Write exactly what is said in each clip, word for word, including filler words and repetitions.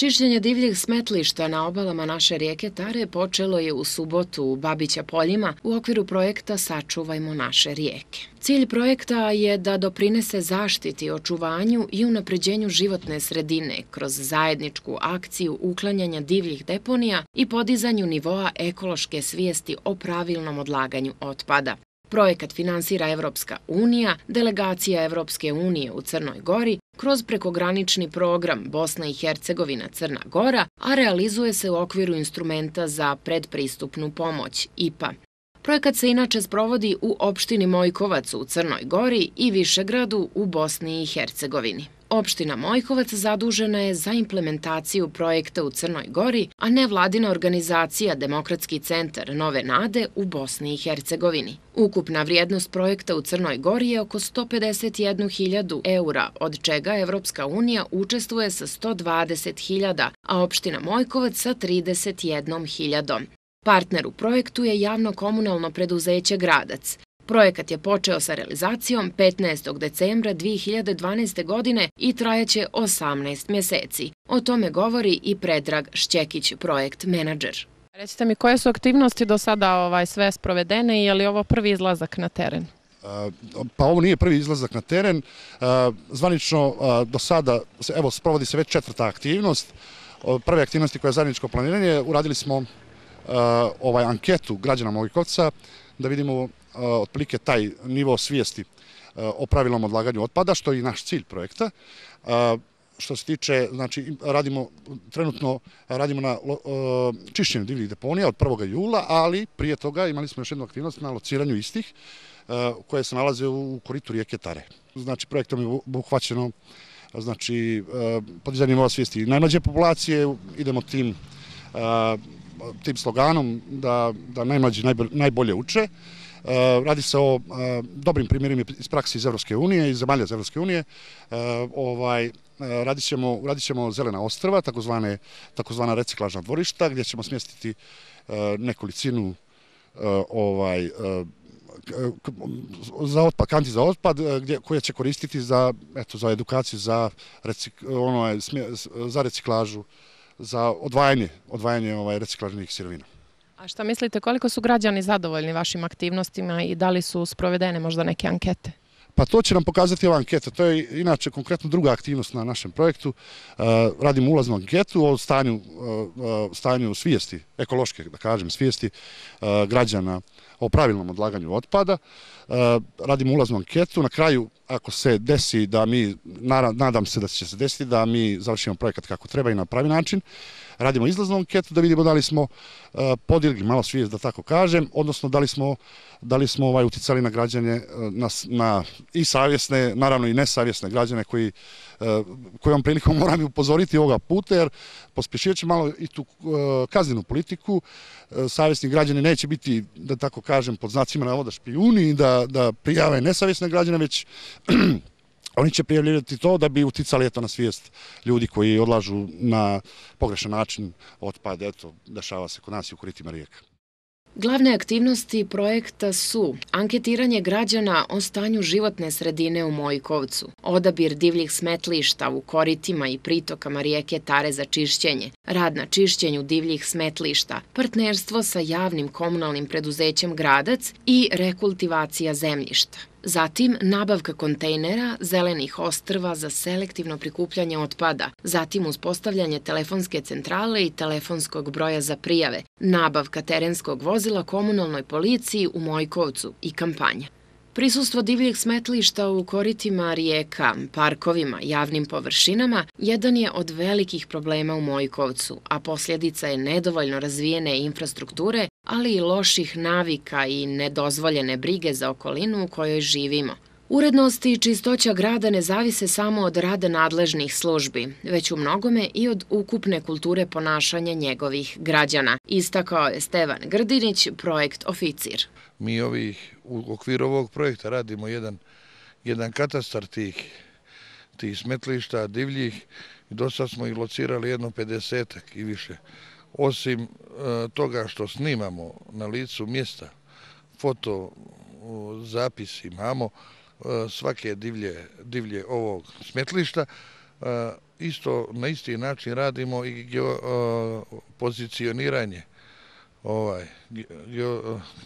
Čišćenje divljih smetlišta na obalama naše rijeke Tare počelo je u subotu u Babića Poljima u okviru projekta Sačuvajmo naše rijeke. Cilj projekta je da doprinese zaštiti, očuvanju i unapređenju životne sredine kroz zajedničku akciju uklanjanja divljih deponija i podizanju nivoa ekološke svijesti o pravilnom odlaganju otpada. Projekat finansira Evropska unija, delegacija Evropske unije u Crnoj Gori, kroz prekogranični program Bosna i Hercegovina Crna Gora, a realizuje se u okviru instrumenta za predpristupnu pomoć I P A. Projekat se inače sprovodi u opštini Mojkovac u Crnoj Gori i Višegradu u Bosni i Hercegovini. Opština Mojkovac zadužena je za implementaciju projekta u Crnoj Gori, a nevladina organizacija Demokratski centar Nove Nade u Bosni i Hercegovini. Ukupna vrijednost projekta u Crnoj Gori je oko sto pedeset jednu hiljadu eura, od čega Evropska unija učestvuje sa sto dvadeset hiljada, a opština Mojkovac sa trideset jednom hiljadom. Partner u projektu je javno-komunalno preduzeće Gradac. Projekat je počeo sa realizacijom petnaestog decembra dve hiljade dvanaeste. godine i trajaće osamnaest mjeseci. O tome govori i Predrag Šćekić, projekt menadžer. Recite mi, koje su aktivnosti do sada ovaj, sve sprovedene i je li ovo prvi izlazak na teren? Pa ovo nije prvi izlazak na teren. Zvanično do sada, evo, sprovodi se već četvrta aktivnost. Prve aktivnosti koje je zajedničko planiranje, uradili smo ovaj anketu građana Mojkovca da vidimo otprilike taj nivo svijesti o pravilnom odlaganju otpada, što je i naš cilj projekta. Što se tiče, znači, radimo, trenutno radimo na čišćenju divljih deponija od prvog jula, ali prije toga imali smo još jednu aktivnost na lociranju istih koje se nalaze u koritu rijeke Tare. Znači, projektom je obuhvaćeno, znači, podizanje nivoa svijesti najmlađe populacije, idemo tim tim sloganom da, da najmlađi najbolje uče. Radi se o dobrim primjerima iz prakse iz Evropske unije, iz zemalja iz Evropske unije. Ovaj, radit ćemo, radit ćemo zelena ostrva, takozvane, takozvana reciklažna dvorišta, gdje ćemo smjestiti nekolicinu ovaj, za otpad, kanti za otpad, gdje, koje će koristiti za, eto, za edukaciju, za, recik, ono, za reciklažu, za odvajanje, odvajanje ovaj, reciklažnih sirovina. A šta mislite, koliko su građani zadovoljni vašim aktivnostima i da li su sprovedene možda neke ankete? Pa to će nam pokazati ova anketa. To je inače konkretno druga aktivnost na našem projektu. Radimo ulaznu anketu o stanju, stanju svijesti, ekološke, da kažem, svijesti građana o pravilnom odlaganju otpada. Radimo ulaznu anketu. Na kraju, ako se desi da mi, nadam se da će se desiti, da mi završimo projekat kako treba i na pravi način, radimo izlaznu anketu da vidimo da li smo podigli malo svijest, da tako kažem, odnosno da li smo, da li smo ovaj, uticali na građane, na, na i savjesne, naravno i nesavjesne građane koji, kojom prilikom moram upozoriti ovoga puta, jer pospješivat će malo i tu kaznenu politiku. Savjesni građani neće biti, da tako kažem, pod znacima navoda špijuni, da, da prijave nesavjesne građane, već oni će prijavljivati to da bi uticali eto, na svijest ljudi koji odlažu na pogrešan način otpad. Eto, dešava se kod nas i u koritima rijeka. Glavne aktivnosti projekta su anketiranje građana o stanju životne sredine u Mojkovcu, odabir divljih smetlišta u koritima i pritokama rijeke Tare za čišćenje, rad na čišćenju divljih smetlišta, partnerstvo sa javnim komunalnim preduzećem Gradac i rekultivacija zemljišta. Zatim nabavka kontejnera, zelenih ostrva za selektivno prikupljanje otpada, zatim uspostavljanje telefonske centrale i telefonskog broja za prijave, nabavka terenskog vozila komunalnoj policiji u Mojkovcu i kampanja. Prisustvo divljih smetlišta u koritima rijeka, parkovima, javnim površinama jedan je od velikih problema u Mojkovcu, a posljedica je nedovoljno razvijene infrastrukture, ali i loših navika i nedozvoljene brige za okolinu u kojoj živimo. Urednost i čistoća grada ne zavise samo od rada nadležnih službi, već u mnogome i od ukupne kulture ponašanja njegovih građana, istakao je Stevan Grdinić, projekt oficir. Mi ovih, u okviru ovog projekta radimo jedan, jedan katastar tih, tih smetlišta divljih i do sad smo ih locirali jedno pedesetak i više. Osim e, toga što snimamo na licu mjesta, foto zapis imamo, svake divlje, divlje ovog smetlišta. isto na isti način radimo i pozicioniranje, ovaj,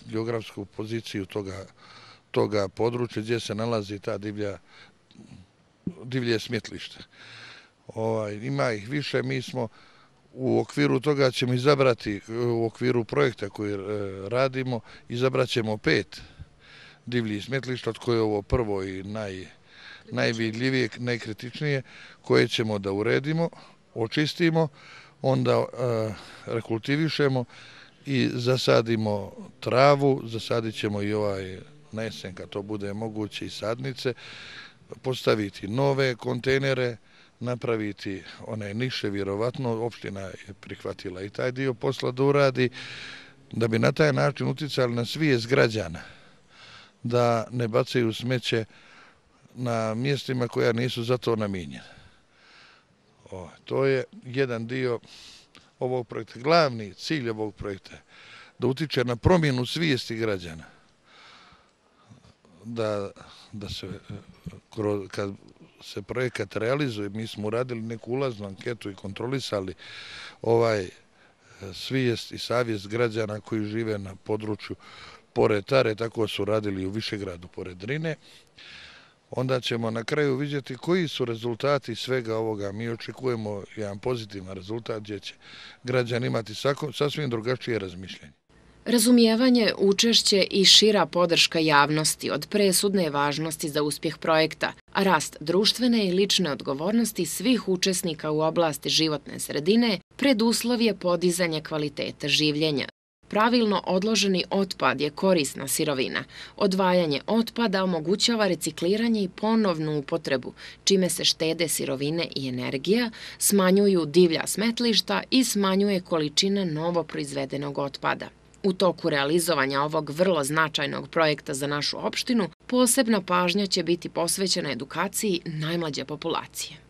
geografsku poziciju toga, toga područja gdje se nalazi ta divlja, divlje smetlište. Ovaj, ima ih više, mi smo u okviru toga ćemo izabrati, u okviru projekta koji radimo, izabrat ćemo pet divljih smetlišta, od koje je ovo prvo i naj, najvidljivije, najkritičnije, koje ćemo da uredimo, očistimo, onda uh, rekultivišemo i zasadimo travu, zasadit ćemo i ovaj na jesen, kad to bude moguće, i sadnice, postaviti nove kontejnere, napraviti one niše, vjerovatno opština je prihvatila i taj dio posla da uradi, da bi na taj način uticali na svijest građana, da ne bacaju smeće na mjestima koja nisu za to namijenjena. O, to je jedan dio ovog projekta. Glavni cilj ovog projekta je da utiče na promjenu svijesti građana. Da, da se, kad se projekat realizuje, mi smo uradili neku ulaznu anketu i kontrolisali ovaj svijest i savjest građana koji žive na području pored Tare, tako su radili i u Višegradu pored Drine. Onda ćemo na kraju vidjeti koji su rezultati svega ovoga. Mi očekujemo jedan pozitivan rezultat gdje će građani imati sasvim drugačije razmišljanje. Razumijevanje, učešće i šira podrška javnosti od presudne važnosti za uspjeh projekta, a rast društvene i lične odgovornosti svih učesnika u oblasti životne sredine preduslov je podizanje kvaliteta življenja. Pravilno odloženi otpad je korisna sirovina. Odvajanje otpada omogućava recikliranje i ponovnu upotrebu, čime se štede sirovine i energija, smanjuju divlja smetlišta i smanjuje količina novo proizvedenog otpada. U toku realizovanja ovog vrlo značajnog projekta za našu opštinu, posebna pažnja će biti posvećena edukaciji najmlađe populacije.